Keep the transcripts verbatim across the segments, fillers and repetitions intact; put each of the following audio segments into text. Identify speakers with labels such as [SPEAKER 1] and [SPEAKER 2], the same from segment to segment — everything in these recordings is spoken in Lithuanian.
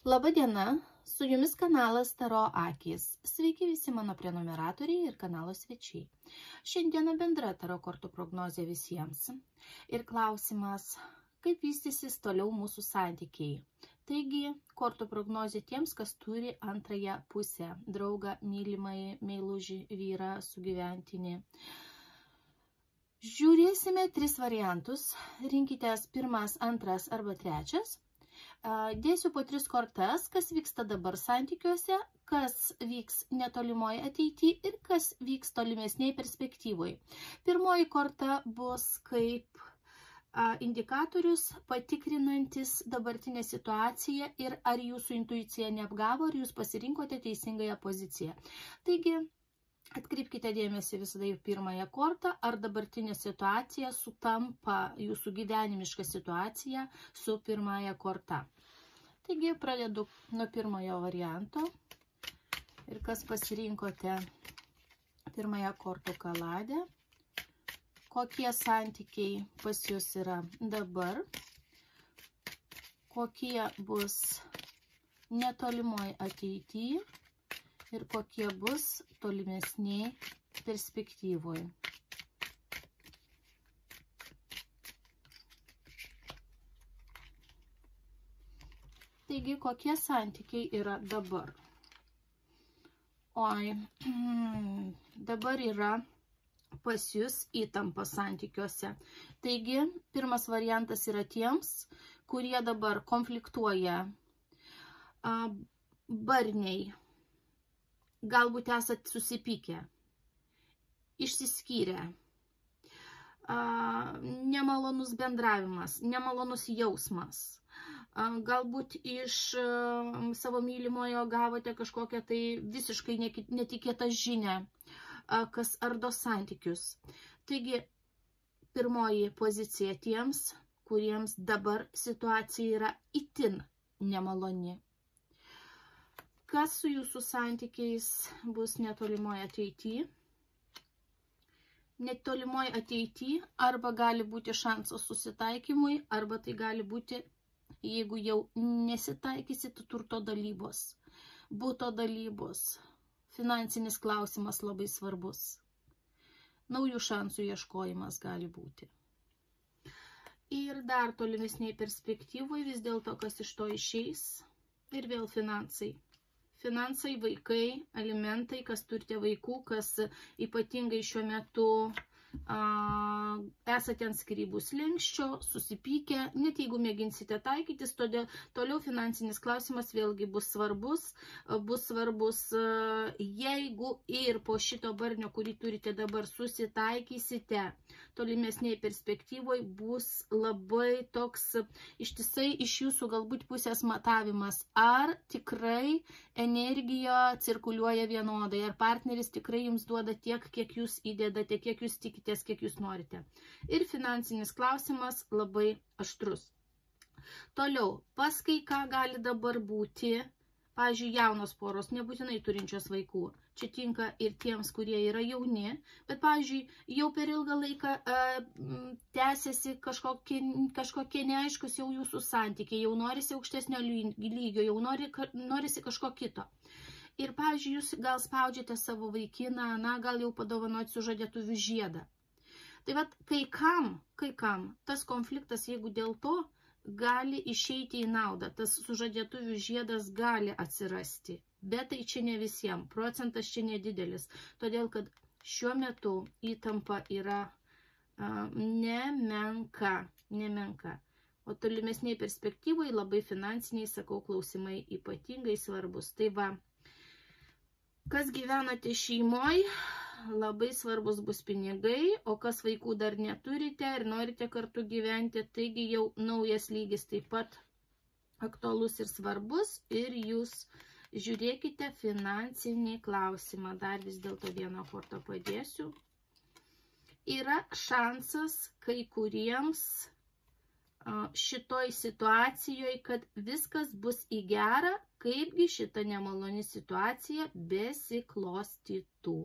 [SPEAKER 1] Labą dieną, su jumis kanalas Taro Akys. Sveiki visi mano prenumeratoriai ir kanalo svečiai. Šiandieną bendra Taro kortų prognozė visiems. Ir klausimas, kaip vystysis toliau mūsų santykiai. Taigi, kortų prognozė tiems, kas turi antrąją pusę, draugą, mylimąjį, meilužį, vyrą, sugyventinį. Žiūrėsime tris variantus. Rinkitės pirmas, antras arba trečias. Dėsiu po tris kortas, kas vyksta dabar santykiuose, kas vyks netolimoje ateityje ir kas vyks tolimesnėje perspektyvoje. Pirmoji korta bus kaip indikatorius patikrinantis dabartinę situaciją ir ar jūsų intuicija neapgavo, ar jūs pasirinkote teisingąją poziciją. Taigi, atkreipkite dėmesį visada į pirmąją kortą, ar dabartinė situacija sutampa jūsų gyvenimiška situacija su pirmąja korta. Taigi, pradedu nuo pirmojo varianto. Ir kas pasirinkote pirmąją kortų kaladę, kokie santykiai pas jūs yra dabar, kokie bus netolimoje ateityje ir kokie bus tolimesnėje perspektyvoje. Taigi, kokie santykiai yra dabar? Oi, dabar yra pas jūs įtampa santykiuose. Taigi, pirmas variantas yra tiems, kurie dabar konfliktuoja, barniai. Galbūt esat susipykę, išsiskyrę, nemalonus bendravimas, nemalonus jausmas. Galbūt iš savo mylimojo gavote kažkokią tai visiškai netikėtą žinią, kas ardo santykius. Taigi, pirmoji pozicija tiems, kuriems dabar situacija yra itin nemaloni. Kas su jūsų santykiais bus netolimoje ateityje? Netolimoje ateityje arba gali būti šansas susitaikymui, arba tai gali būti, jeigu jau nesitaikysite, turto dalybos, buto dalybos, finansinis klausimas labai svarbus. Naujų šansų ieškojimas gali būti. Ir dar tolimesnėje perspektyvoje vis dėlto, kas iš to išeis, ir vėl finansai. Finansai, vaikai, alimentai, kas turite vaikų, kas ypatingai šiuo metu a, esate ant skyrybų slenksčio, susipykę, net jeigu mėginsite taikytis, todėl toliau finansinis klausimas vėlgi bus svarbus, bus svarbus, jeigu ir po šito barnio, kurį turite dabar, susitaikysite, tolimesnėje perspektyvoje bus labai toks ištisai iš jūsų galbūt pusės matavimas, ar tikrai energija cirkuliuoja vienodai, ar partneris tikrai jums duoda tiek, kiek jūs įdedate, kiek jūs tikitės, kiek jūs norite. Ir finansinis klausimas labai aštrus. Toliau, pas kai ką gali dabar būti, pavyzdžiui, jaunos poros, nebūtinai turinčios vaikų. Čia tinka ir tiems, kurie yra jauni, bet, pavyzdžiui, jau per ilgą laiką e, tęsiasi kažkokie, kažkokie neaiškus jau jūsų santykiai, jau norisi aukštesnio lygio, jau nori, norisi kažko kito. Ir, pavyzdžiui, jūs gal spaudžiate savo vaikiną, na, gal jau padovanoti sužadėtuvių žiedą. Tai vat, kai kam, kai kam, tas konfliktas, jeigu dėl to, gali išeiti į naudą, tas sužadėtuvių žiedas gali atsirasti, bet tai čia ne visiems, procentas čia nedidelis, todėl kad šiuo metu įtampa yra a, nemenka, nemenka, o tolimesniai perspektyvai labai finansiniai, sakau, klausimai ypatingai svarbus. Tai va, kas gyvenate šeimoje, labai svarbus bus pinigai, o kas vaikų dar neturite ir norite kartu gyventi, taigi jau naujas lygis taip pat aktualus ir svarbus ir jūs žiūrėkite finansinį klausimą. Dar vis dėlto vieną kortą padėsiu. Yra šansas kai kuriems šitoj situacijoje, kad viskas bus į gerą, kaipgi šita nemaloni situacija besiklostytų.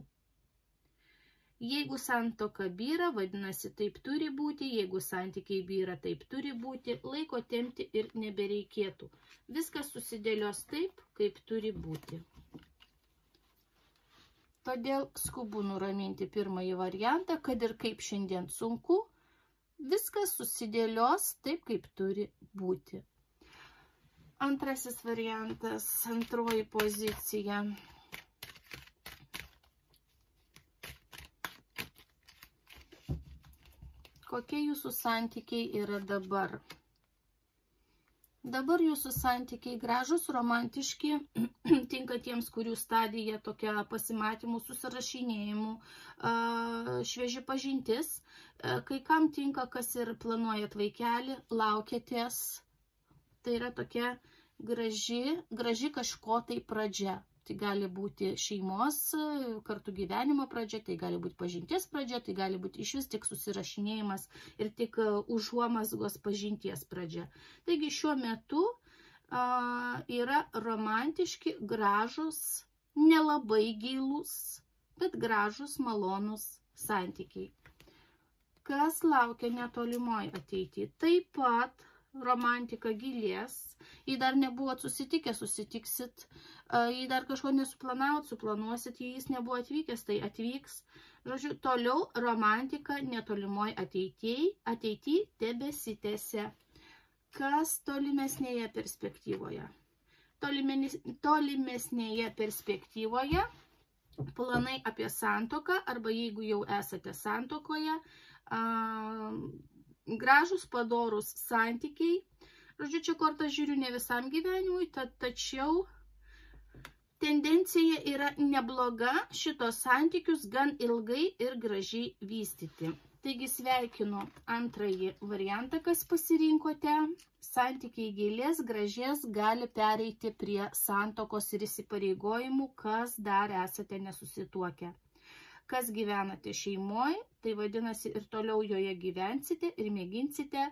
[SPEAKER 1] Jeigu santuoka byra, vadinasi, taip turi būti, jeigu santykiai byra, taip turi būti, laiko tempti ir nebereikėtų. Viskas susidėlios taip, kaip turi būti. Todėl skubu nuraminti pirmąjį variantą, kad ir kaip šiandien sunku, viskas susidėlios taip, kaip turi būti. Antrasis variantas, antroji pozicija. Kokie jūsų santykiai yra dabar? Dabar jūsų santykiai gražus, romantiški, tinka tiems, kurių stadija tokia pasimatymų, susirašinėjimų, švieži pažintis. Kai kam tinka, kas ir planuojat vaikelį, laukiatės. Tai yra tokia graži, graži kažko tai pradžia. Tai gali būti šeimos, kartu gyvenimo pradžia, tai gali būti pažinties pradžia, tai gali būti iš vis tik susirašinėjimas ir tik užuomazgos pažinties pradžia. Taigi šiuo metu a, yra romantiški, gražus, nelabai gilūs, bet gražus, malonus santykiai. Kas laukia netolimoje ateityje? Taip pat romantika gilės, jei dar nebuvot susitikę, susitiksit, jei dar kažko nesuplanavot, suplanuosit, jei jis nebuvo atvykęs, tai atvyks. Žodžiu, toliau romantika netolimoje ateityje, ateityje tebesitęsia. Kas tolimesnėje perspektyvoje? Tolimesnėje perspektyvoje planai apie santuoką, arba jeigu jau esate santuokoje, gražus, padorus santykiai. Žodžiu, čia kortą žiūriu ne visam gyvenimui, ta, tačiau tendencija yra nebloga šitos santykius gan ilgai ir gražiai vystyti. Taigi sveikinu antrąjį variantą, kas pasirinkote. Santykiai gilės, gražės, gali pereiti prie santuokos ir įsipareigojimų, kas dar esate nesusituokę. Kas gyvenate šeimoje, tai vadinasi ir toliau joje gyvensite ir mėginsite,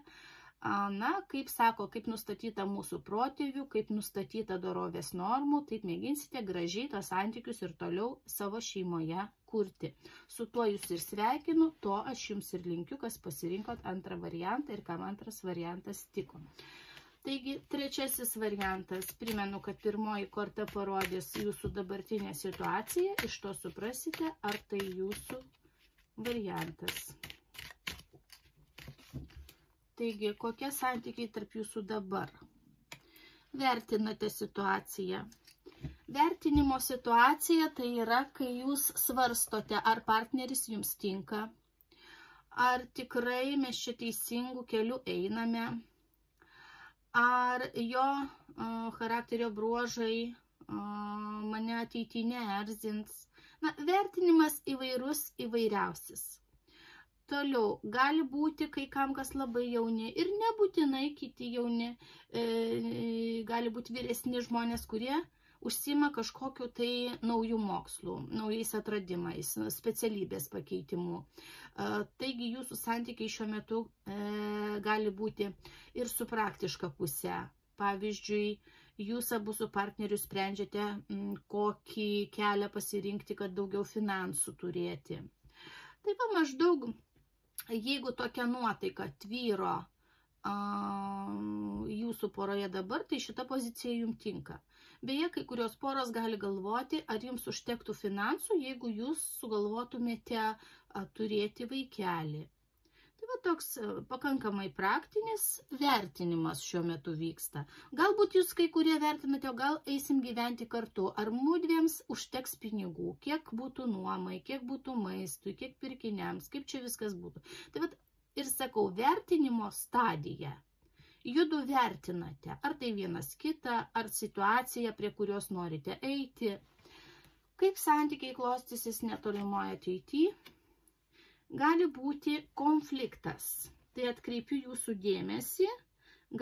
[SPEAKER 1] na, kaip sako, kaip nustatyta mūsų protėvių, kaip nustatyta dorovės normų, taip mėginsite gražiai tos santykius ir toliau savo šeimoje kurti. Su tuo jūs ir sveikinu, to aš jums ir linkiu, kas pasirinkot antrą variantą ir kam antras variantas tiko. Taigi, trečiasis variantas, primenu, kad pirmoji korta parodys jūsų dabartinę situaciją, iš to suprasite, ar tai jūsų variantas. Taigi, kokie santykiai tarp jūsų dabar? Vertinate situaciją. Vertinimo situacija tai yra, kai jūs svarstote, ar partneris jums tinka, ar tikrai mes čia teisingų kelių einame, ar jo uh, charakterio bruožai uh, mane ateityje neerzins. Na, vertinimas įvairus, įvairiausias. Toliau, gali būti kai kam kas labai jauni ir nebūtinai kiti jauni, e, gali būti vyresni žmonės, kurie užsima kažkokiu tai naujų mokslų, naujais atradimais, specialybės pakeitimų. Taigi jūsų santykiai šiuo metu e, gali būti ir su praktiška puse. Pavyzdžiui, jūs abu su partneriu sprendžiate, m, kokį kelią pasirinkti, kad daugiau finansų turėti. Taip pat maždaug, jeigu tokia nuotaika tvyro a, jūsų poroje dabar, tai šita pozicija jums tinka. Beje, kai kurios poros gali galvoti, ar jums užtektų finansų, jeigu jūs sugalvotumėte a, turėti vaikelį. Tai va toks a, pakankamai praktinis vertinimas šiuo metu vyksta. Galbūt jūs kai kurie vertinate, o gal eisim gyventi kartu, ar mudviems užteks pinigų, kiek būtų nuomai, kiek būtų maistui, kiek pirkiniams, kaip čia viskas būtų. Tai va ir sakau, vertinimo stadija. Judu vertinate, ar tai vienas kitą, ar situaciją, prie kurios norite eiti, kaip santykiai klostysis netolimoje ateityje. Gali būti konfliktas, tai atkreipiu jūsų dėmesį,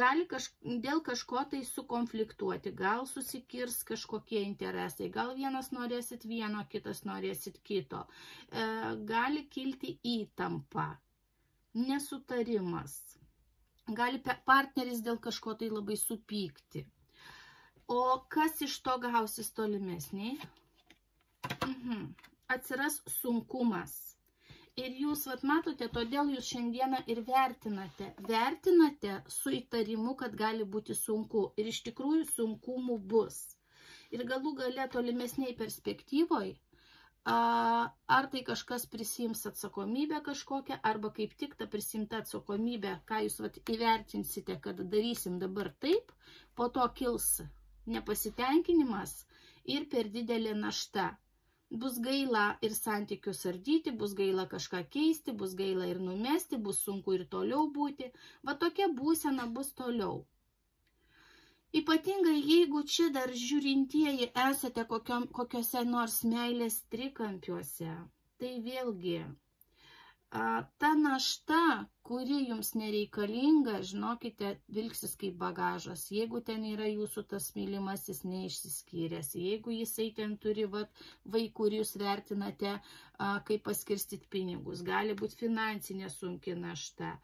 [SPEAKER 1] gali kaž, dėl kažko tai sukonfliktuoti, gal susikirs kažkokie interesai, gal vienas norėsit vieno, kitas norėsit kito, e, gali kilti įtampa, nesutarimas. Gali partneris dėl kažko tai labai supykti. O kas iš to gausis tolimesniai? Mhm. Atsiras sunkumas. Ir jūs, vat matote, todėl jūs šiandieną ir vertinate. Vertinate su įtarimu, kad gali būti sunku. Ir iš tikrųjų sunkumų bus. Ir galų gale tolimesniai perspektyvoje, ar tai kažkas prisiims atsakomybę kažkokią, arba kaip tik ta prisimta atsakomybė, ką jūs vat įvertinsite, kad darysim dabar taip, po to kils nepasitenkinimas ir per didelė našta. Bus gaila ir santykius ardyti, bus gaila kažką keisti, bus gaila ir numesti, bus sunku ir toliau būti. Va tokia būsena bus toliau. Ypatingai jeigu čia dar žiūrintieji esate kokiom, kokiose nors meilės trikampiuose, tai vėlgi a, ta našta, kuri jums nereikalinga, žinokite, vilksis kaip bagažas. Jeigu ten yra jūsų tas mylimasis neišsiskyręs, jeigu jisai ten turi vat, vaikų ir jūs vertinate, a, kaip paskirstyti pinigus, gali būti finansinė sunki našta.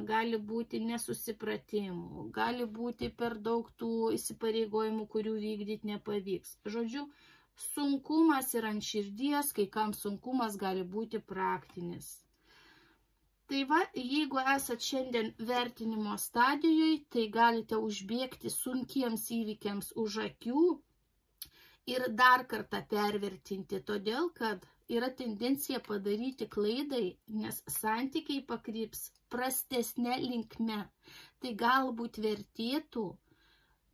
[SPEAKER 1] Gali būti nesusipratimų, gali būti per daug tų įsipareigojimų, kurių vykdyti nepavyks. Žodžiu, sunkumas yra ant širdies, kai kam sunkumas gali būti praktinis. Tai va, jeigu esat šiandien vertinimo stadijoje, tai galite užbėgti sunkiems įvykiams už akių ir dar kartą pervertinti, todėl kad yra tendencija padaryti klaidai, nes santykiai pakryps prastesnė linkme. Tai galbūt vertėtų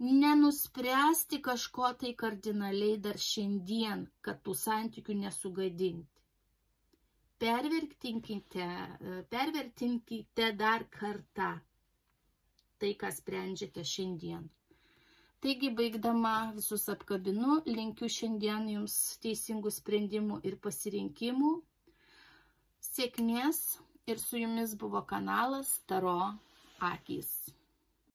[SPEAKER 1] nenuspręsti kažko tai kardinaliai dar šiandien, kad tų santykių nesugadinti. Pervertinkite, pervertinkite dar kartą tai, ką sprendžiate šiandien. Taigi, baigdama visus apkabinu, linkiu šiandien jums teisingų sprendimų ir pasirinkimų, sėkmės ir su jumis buvo kanalas Taro akys.